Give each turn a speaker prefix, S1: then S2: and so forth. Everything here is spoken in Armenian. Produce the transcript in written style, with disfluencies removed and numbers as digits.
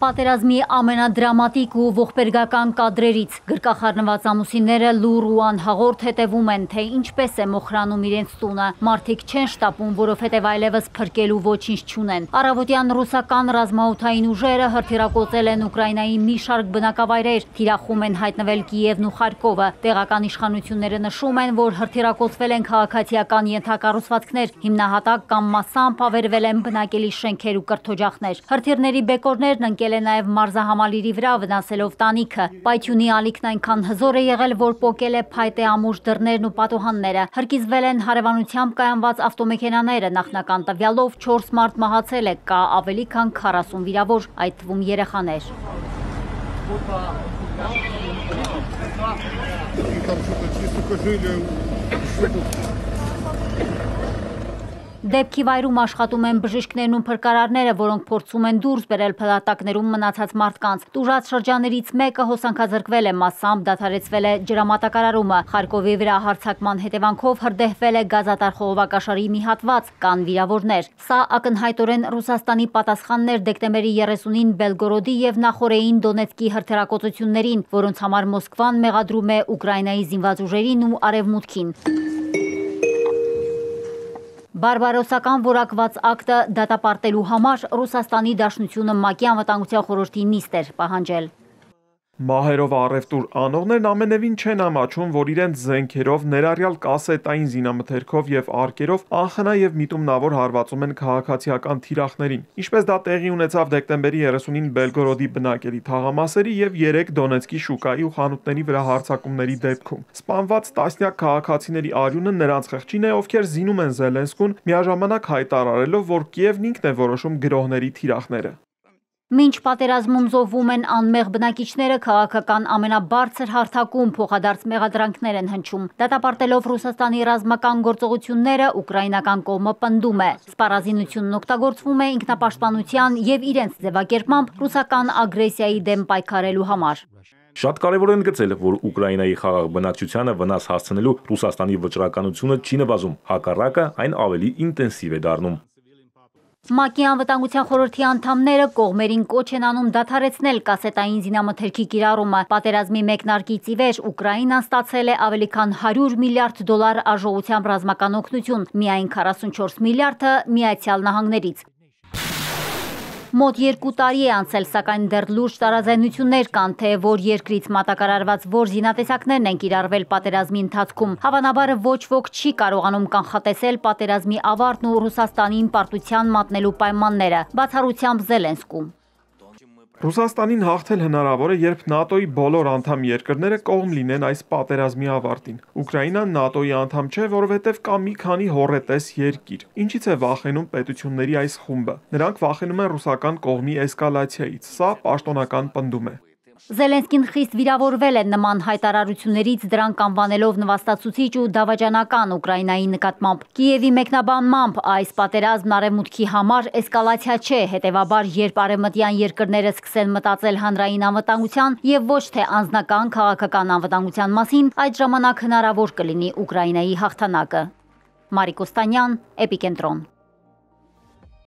S1: Պատերազմի ամենադրամատիկ ու ողբերգական կադրերից գրկախառնված ամուսինները լուռ ու անհաղորդ հետևում են, թե ինչպես է մոխրանում իրենց տունը։ Մարդիկ չեն շտապում, որովհետև այլևս փրկելու ոչինչ չունեն։ Առավոտյան ռուսական ռազմաօդային ուժերը հրթիռակոծել են Ուկրաինայի մի շարք բնակավայրեր, թիրախում են հայտնվել Կիևն ու Խարկովը։ Տեղական իշխանությունները նշում են, որ հրթիռակոծվել են քաղաքացիական ենթակառուցվածքներ, հիմնահատակ կամ մասամբ ավերվել են բնակելի շենքեր ու կրթօջախներ։ Հրթիռների բեկորներն ընկել է նաև մարզահամալիրի վրա, վնասելով տանիքը։ Պայթյունի ալիքն այնքան հզոր է եղել, որ պոկել է փայտե ամուր դռներն ու պատուհանները։ Հրկիզվել են հարևանությամբ կայանված ավտոմեքենաները։ Նախնական տվյալով 4 մարդ մահացել է, կա ավելի քան 40 վիրավոր, այդ թվում երեխաներ։ Դեպքի վայրում աշխատում են բժիշկներն ու փրկարարները, որոնք փորձում են դուրս բերել փլատակներում մնացած մարդկանց։ Տուժած շրջաններից մեկը հոսանքազրկվել է, մասամբ դադարեցվել է ջրամատակարարումը։ Խարկովի վրա հարձակման հետևանքով հրդեհվել է գազատար խողովակաշարի մի հատված, կան վիրավորներ։ Սա ակնհայտորեն Ռուսաստանի պատասխանն էր դեկտեմբերի 30-ին Բելգորոդի եւ նախորդին Դոնեցկի հրթիռակոծություններին, որոնց համար Մոսկվան մեղադրում է Ուկրաինայի զինված ուժերին ու Արևմուտքին։ Բարբարոսական որակված ակտը դատապարտելու համար Ռուսաստանի Դաշնությունը ՄԱԿ-ի Անվտանգության խորհրդի նիստ էր պահանջել։
S2: Մահերով առևտուր անողներն ամենևին չեն ամաչում, որ իրենց զենքերով, ներառյալ կասետային զինամթերքով եւ արկերով անխնա եւ միտումնավոր հարվածում են քաղաքացիական թիրախներին։ Ինչպես դա տեղի ունեցավ դեկտեմբերի 30-ին Բելգորոդի բնակելի թաղամասերի եւ 3 Դոնեցկի շուկայի ու խանութների վրա հարձակումների դեպքում։ Սպանված տասնյակ քաղաքացիների արյունը նրանց խղճին է, ովքեր զինում են Զելենսկուն, միաժամանակ հայտարարելով, որ Կիևն ինքն է որոշում գրոհների թիրախները։
S1: Մինչ պատերազմում զոհվում են անմեղ բնակիչները, քաղաքական ամենաբարձր հարթակում փոխադարձ մեղադրանքներ են հնչում։ Դատապարտելով Ռուսաստանի ռազմական գործողությունները, ուկրաինական կողմը պնդում է։ Սպառազինությունն օգտագործվում է ինքնապաշտպանության եւ իրենց ձևակերպմամբ ռուսական ագրեսիայի դեմ պայքարելու համար։
S3: Շատ կարևոր են գծել, որ Ուկրաինայի խաղաղ բնակչությանը վնաս հասցնելու Ռուսաստանի վճռականությունը չի նվազում, հակառակը այն ավելի ինտենսիվ է դառնում։
S1: ՄԱԿ-ի Անվտանգության խորհրդի անդամները կողմերին կոչ են անում դադարեցնել կասետային զինամթերքի կիրառումը։ Պատերազմի մեկնարկից ի վեր Ուկրաինան ստացել է ավելի քան $100 միլիարդ արժողությամբ ռազմական օգնություն, միայն 44 միլիարդը Միացյալ Նահանգներից։ Մոտ 2 տարի է անցել, սակայն դեռ լուրջ տարաձայնություններ կան, թե որ երկրից մատակարարված որ զինատեսակներն են կիրառվել պատերազմի ընթացքում։ Հավանաբար ոչ ոք չի կարողանում կանխատեսել պատերազմի ավարտն ու Ռուսաստանին պարտության մատնելու պայմանները, բացառությամբ Զելենսկու։
S2: Ռուսաստանին հաղթել հնարավոր է, երբ ՆԱՏՕ-ի բոլոր անդամ երկրները կողմ լինեն այս պատերազմի ավարտին։ Ուկրաինան ՆԱՏՕ-ի անդամ չէ, որովհետև կա մի քանի հոռետես երկիր։ Ինչից է վախենում պետությունների այս խումբը։ Նրանք վախենում են ռուսական կողմի էսկալացիայից։ Սա պաշտոնական պնդում է։
S1: Զելենսկին խիստ վիրավորվել է նման հայտարարություններից, դրանք անվանելով նվաստացուցիչ ու դավաճանական Ուկրաինայի նկատմամբ։ Կիևի մեկնաբանմամբ այս պատերազմն Արևմուտքի համար էսկալացիա չէ, հետևաբար երբ արևմտյան երկրները սկսեն մտածել հանրային անվտանգության եւ ոչ թե անձնական քաղաքական անվտանգության մասին, այդ ժամանակ հնարավոր կլինի Ուկրաինայի հաղթանակը։ Մարիկ Օստանյան, Էպիկենտրոն։